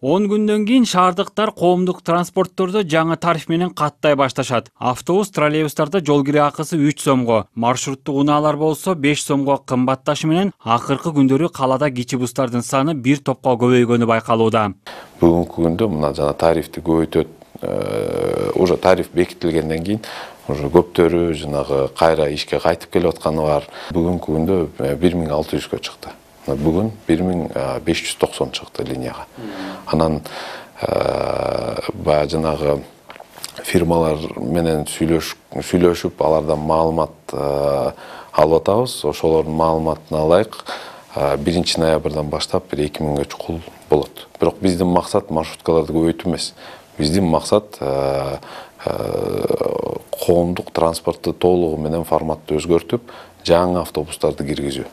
10 күндөн кийин шаардыктар коомдук транспортторду жаңы тариф менен каттай башташат. Автобус, троллейбустарда жол кире акысы 3 сомго, маршруттук унаалар болсо 5 сомго кымбатташы менен акыркы күндөрү калада кичи бустардын саны бир топко көбөйгөнү байкалууда. Бүгүнкү күндө мына жана тарифти көбөйтөт, уже тариф бекитилгенден кийин уже көптөрү жанагы кайра ишке кайтып келип атканы бар. Бүгүнкү күндө 1600-кө чыкты. Бүгүн 1590 чыкты линияга. Анан баягы жанагы фирмалар менен сүйлөшүп, алардан маалымат алып атабыз. Ошолордун маалыматына ылайык 1 ноябрдан баштап 2000гө чукул болот. Бирок биздин максат маршруткаларды көбөйтүү эмес. Биздин максат коомдук транспортту толугу менен форматты өзгөртүп, жаңы автобустарды киргизүү.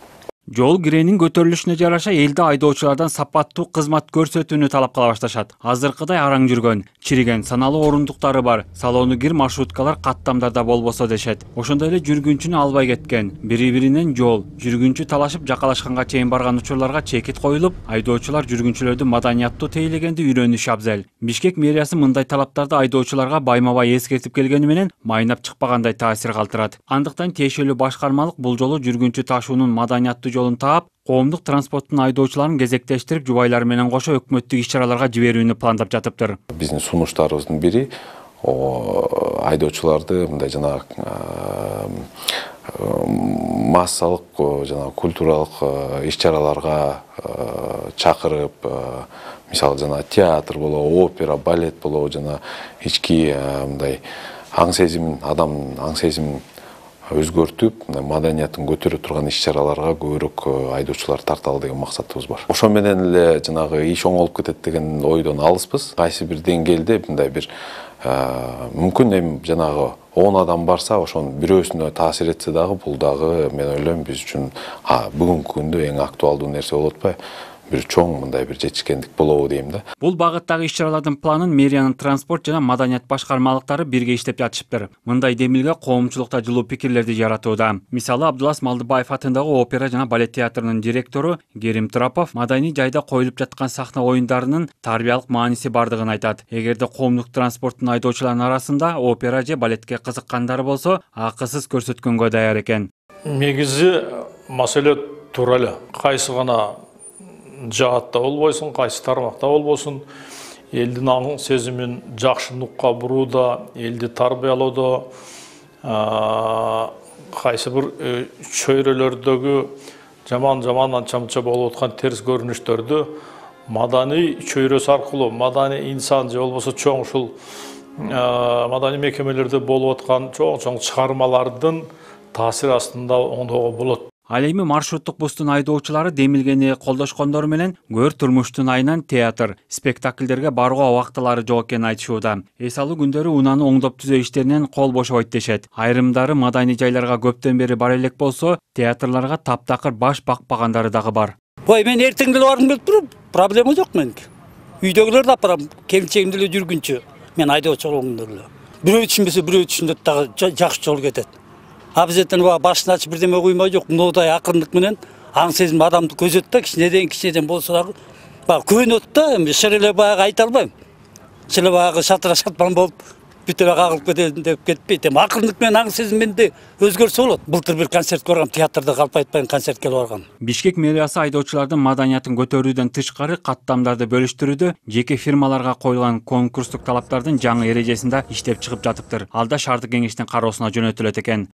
Жол киренин көтөрүлүшүнө жараша элде айдоочулардан сапаттуу кызмат көрсөтүүнү талап кыла башташат. Азыркыдай араң жүргөн, чириген, саналуу орундуктары бар, салону кир маршруткалар каттамдарда болбосо дешет. Ошондой эле жүргүнчүнү албай кеткен, бири-биринен жол, жүргүнчү талашып жакалашканга чейин барган учурларга чекит коюлуп, айдоочулар жүргүнчүлөрдү маданияттуу тейлегенди үйрөнүшү абзел. Бишкек мэриясы мындай талаптарды айдоочуларга байма-бай эскертип келгени менен майнап чыкпагандай таасир калтырат. Андыктан тиешелүү башкармалык бул жолу жүргүнчү ташуунун маданияттуу жолун таап, коомдук транспорттун айдоочуларын кезектештирип, жубайлар менен кошо өкмөттүк иш-чараларга жиберүүнү пландап жатыптыр. Биздин сунуштарыбыздын бири айдоочуларды мындай жана массалык жана культуралык иш-чараларга чакырып, мисалы жана театр болобу, опера, балет болобу, жана ички мындай аң сезимин, адамдын аң сезимин өзгөртүп, маданиятын көтөрө турган иш-чараларга көбүрөөк айдоочулар тарталы деген максатыбыз бар. Ошо менен эле жанагы иш оңолуп кетет деген ойдон алыспыз. Кайсы бир деңгээлде мындай бир мүмкүн эми жанагы 10 адам барса, ошонун бирөөсүнө таасир этсе дагы, бул дагы мен ойлойм биз үчүн бүгүнкү күндө эң актуалдуу нерсе болуп атпайбы? Бир чоң мындай бир жетишкендик болобу дейм да. Бул багыттагы иш-чаралардын планын мэриянын транспорт жана маданият башкармалыктары бирге иштеп жатышыптыр. Мындай демилге коомчулукта жылуу пикирлерди жаратууда. Мисалы, Абдулас Малдыбаев атындагы опера жана балет театрынын директору Керим Трапов маданий жайда коюлуп жаткан сахна оюндарынын тарбиялык мааниси бардыгын айтат. Эгерде коомдук транспорттун айдоочуларынын арасында опера же балетке кызыккандары болсо, акысыз көрсөткөнгө даяр экен. Негизи маселе туура эле. Кайсы гана жаатта болбойсун, кайсы тармакта болбосун, элдин аң сезимин жакшы нукка бурууда, элди тарбиялоодо, кайсы бир чөйрөлөрдөгү жаман чамча болуп аткан терс көрүнүштөрдү маданий чөйрөсү аркылуу, маданий инсан же болбосо чоң ушул маданий мекемелерде болуп аткан чоң чыгармалардын таасир астында оңдоого болот. Ал эми маршруттук бустун айдоочулары демилгени колдошкондору менен көр турмуштун айынан театр, спектакльдерге барууга убактылары жок экенин айтышууда. Эс алуу күндөрү унааны оңдоп түзөө иштеринен кол бошобойт дешет. Айрымдары маданий жайларга көптөн бери бара элек болсо, театрларга таптакыр баш бакпагандары дагы бар. Ой, мен эртең деле баргым келип туруп, проблема жок меники. Үйдөгүлөрдү алып барам, келинчегим деле жүргүнчү. Мен айдоочу болгондо эле. Бирөө түшүнбөсө бирөө түшүнөт дагы жакшы жол кетет. Абзеттен башын ачып бирдеме куймай жок, мындай акырындык менен аң сезим адамды көзөт да, кичинеден болсо дагы көнөт да, эми шыреле баягы айта албайм. Шыреле баягы шатыран болуп бүт эле кагылып кетет деп кетпейт. Эми акырындык менен аң сезим менде өзгөрсө болот. Былтыр бир концертке баргам, театрда калп айтпайм концертке баргам. Бишкек мэриясы айдоочулардын маданиятын көтөрүүдөн тышкары каттамдарды бөлүштүрүүдө жеке фирмаларга коюлган конкурстук талаптардын жаңы эрежесинде иштеп чыгып жатыптыр. Алда шаардык кеңештин кароосуна жөнөтүлөт экен.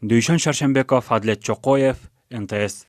Дүйшөн Шаршембеков, Адилет Чокоев, НТС.